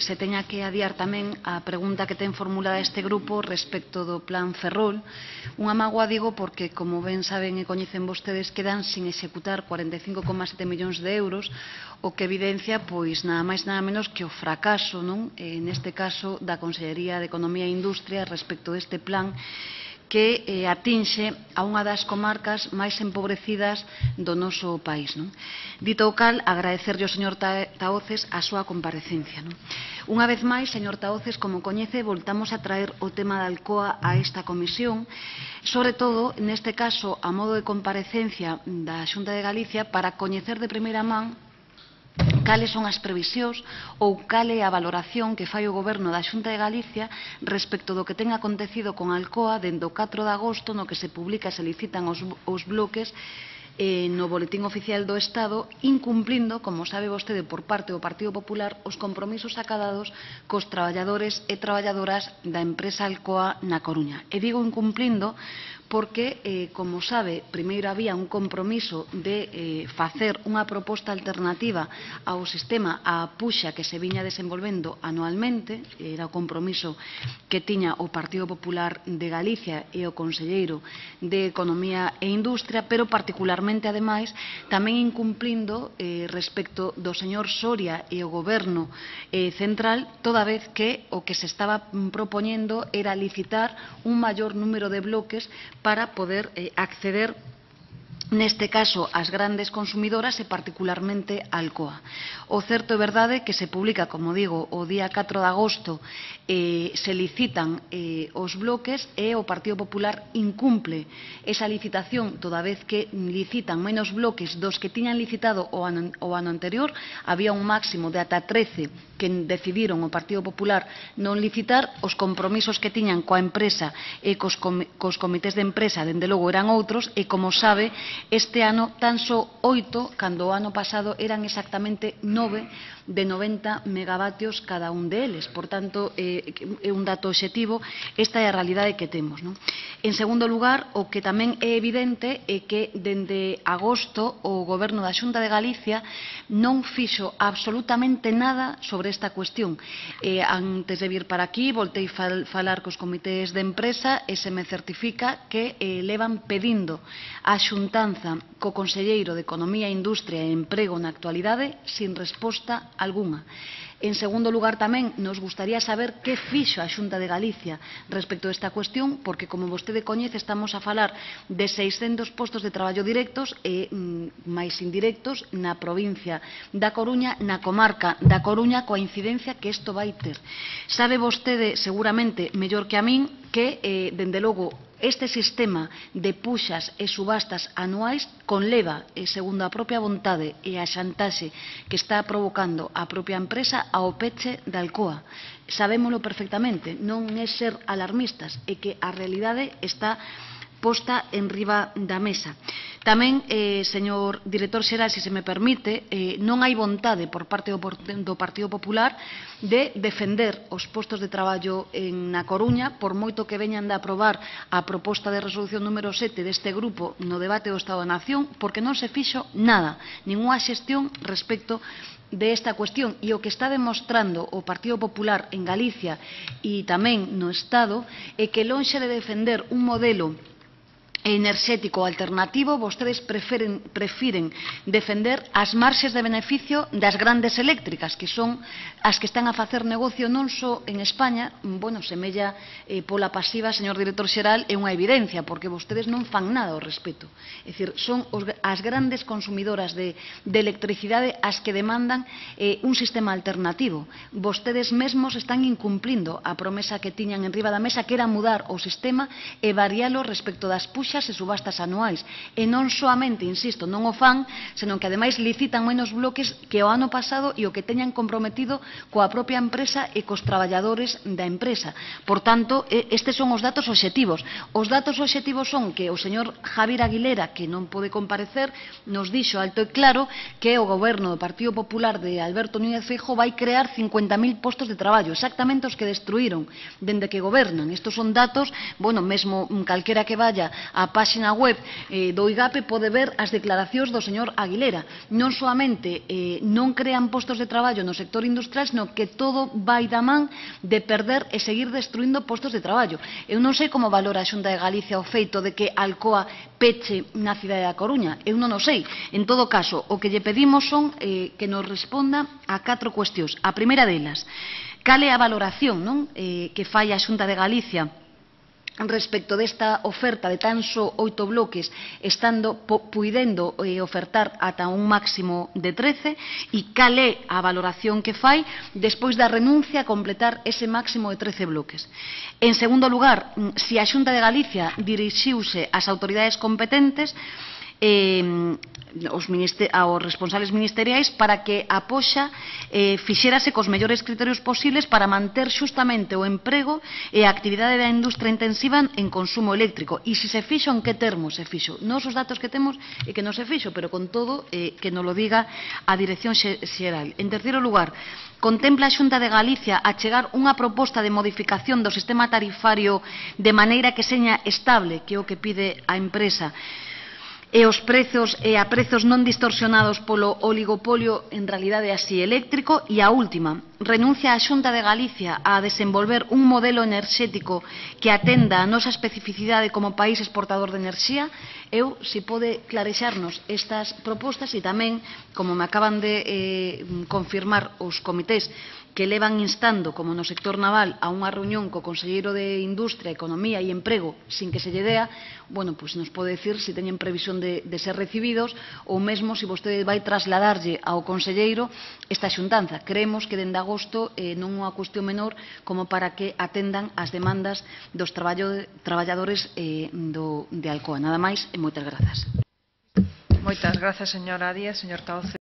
se teña que adiar tamén a pregunta que ten formulada este grupo respecto do plan Ferrol. Unha mágoa, digo, porque, como ben saben e coñecen vostedes, quedan sin executar 45,7 millóns de euros, o que evidencia, pois, nada máis nada menos que o fracaso, non? Neste caso, da Consellería de Economía e Industria respecto deste plan, que atinxe a unha das comarcas máis empobrecidas do noso país. Dito o cal, agradecerlle ao señor Tahoces a súa comparecencia. Unha vez máis, señor Tahoces, como coñece, voltamos a traer o tema da Alcoa a esta comisión, sobre todo, neste caso, a modo de comparecencia da Xunta de Galicia, para coñecer de primeira man cales son as previsións ou cal é a valoración que fai o Goberno da Xunta de Galicia respecto do que ten acontecido con Alcoa dende o 4 de agosto, no que se publica e se licitan os bloques no Boletín Oficial do Estado, incumplindo, como sabe vostede, por parte do Partido Popular, os compromisos acadados cos traballadores e traballadoras da empresa Alcoa na Coruña. E digo incumplindo porque, como sabe, primeiro había un compromiso de facer unha proposta alternativa ao sistema a puxa que se viña desenvolvendo anualmente, era o compromiso que tiña o Partido Popular de Galicia e o Conselleiro de Economía e Industria, pero particularmente, ademais, tamén incumplindo respecto do señor Soria e o Goberno central, toda vez que o que se estaba propoñendo era licitar un maior número de bloques para poder acceder, neste caso, ás grandes consumidoras e particularmente a Alcoa. O certo é verdade que se publica, como digo, o día 4 de agosto, se licitan os bloques e o Partido Popular incumple esa licitación, toda vez que licitan menos bloques dos que tiñan licitado o ano anterior. Había un máximo de ata 13 que decidiron o Partido Popular non licitar. Os compromisos que tiñan coa empresa e cos comités de empresa, dende logo, eran outros, e, como sabe, este ano tan só 8, cando o ano pasado eran exactamente 9 de 90 megavatios cada un deles. Por tanto, é un dato obxectivo, esta é a realidade que temos. En segundo lugar, o que tamén é evidente é que dende agosto o Goberno da Xunta de Galicia non fixo absolutamente nada sobre esta cuestión. Antes de vir para aquí, voltei falar cos comités de empresa e se me certifica que levan pedindo a xuntanza co Conselleiro de Economía, Industria e Emprego na actualidade sin resposta algunha. En segundo lugar, tamén nos gustaría saber que fixo a Xunta de Galicia respecto a esta cuestión, porque, como vostede coñece, estamos a falar de 600 postos de traballo directos e máis indirectos na provincia da Coruña, na comarca da Coruña, coa incidencia que isto vai ter. Sabe vostede, seguramente, mellor que a min, que, dende logo, este sistema de puxas e subastas anuais conleva, segundo a propia vontade e a xantaxe que está provocando a propia empresa, ao peche da Alcoa. Sabémolo perfectamente, non é ser alarmistas, é que a realidade está posta en riba da mesa. Tamén, señor director xeral, se me permite, non hai vontade por parte do Partido Popular de defender os postos de traballo na Coruña, por moito que veñan de aprobar a proposta de resolución número 7 deste grupo no debate do Estado da Nación, porque non se fixo nada, ningunha xestión respecto de esta cuestión. E o que está demostrando o Partido Popular en Galicia e tamén no Estado é que, lonxe de defender un modelo enerxético alternativo, vostedes prefiren defender as marxes de beneficio das grandes eléctricas, que son as que están a facer negocio non só en España, semella pola pasiva, señor director xeral, é unha evidencia, porque vostedes non fan nada ao respecto. É dicir, son as grandes consumidoras de electricidade as que demandan un sistema alternativo. Vostedes mesmos están incumplindo a promesa que tiñan en riba da mesa, que era mudar o sistema e varialo respecto das puxas e subastas anuais. E non soamente, insisto, non o fan, senón que ademais licitan menos bloques que o ano pasado e o que teñan comprometido coa propia empresa e cos traballadores da empresa. Por tanto, estes son os datos obxectivos. Os datos obxectivos son que o señor Javier Aguilera, que non pode comparecer, nos dixo alto e claro que o Goberno do Partido Popular de Alberto Núñez Feijóo vai crear 50.000 postos de traballo, exactamente os que destruíron dende que gobernan. Estos son datos, mesmo calquera que vaya a páxina web do IGAPE pode ver as declaracións do señor Aguilera. Non soamente non crean postos de traballo no sector industrial, sino que todo vai da man de perder e seguir destruindo postos de traballo. Eu non sei como valora a Xunta de Galicia o feito de que Alcoa peche na cidade da Coruña. Eu non o sei. En todo caso, o que lle pedimos son que nos responda a 4 cuestións. A primeira delas, cal é a valoración que fai a Xunta de Galicia respecto desta oferta de tan só 8 bloques, estando puidendo ofertar ata un máximo de 13, e cal é a valoración que fai despois da renuncia a completar ese máximo de 13 bloques. En segundo lugar, se a Xunta de Galicia dirixiuse ás autoridades competentes aos responsables ministeriais para que a poxa fixérase cos mellores criterios posibles para manter xustamente o emprego e a actividade da industria intensiva en consumo eléctrico. E se se fixo, en que termos se fixo? Nos os datos que temos é que non se fixo, pero con todo que nos lo diga a Dirección Xeral. En terceiro lugar, contempla a Xunta de Galicia achegar unha proposta de modificación do sistema tarifario de maneira que seña estable, que é o que pide a empresa, e os prezos a prezos non distorsionados polo oligopolio en realidade así eléctrico. E a última, renuncia a Xunta de Galicia a desenvolver un modelo enerxético que atenda a nosa especificidade como país exportador de enerxía. Eu, se pode clarexarnos estas propostas, e tamén, como me acaban de confirmar os comités que levan instando, como no sector naval, a unha reunión co Conselleiro de Industria, Economía e Emprego sin que se lle dea, bueno, pois nos pode decir se teñen previsión de ser recibidos ou mesmo se vostede vai trasladarlle ao Conselleiro esta xuntanza. Creemos que dende agosto non é unha cuestión menor como para que atendan as demandas dos traballadores de Alcoa. Nada máis e moitas grazas. Moitas grazas, señora Díaz. Señor Tahoce.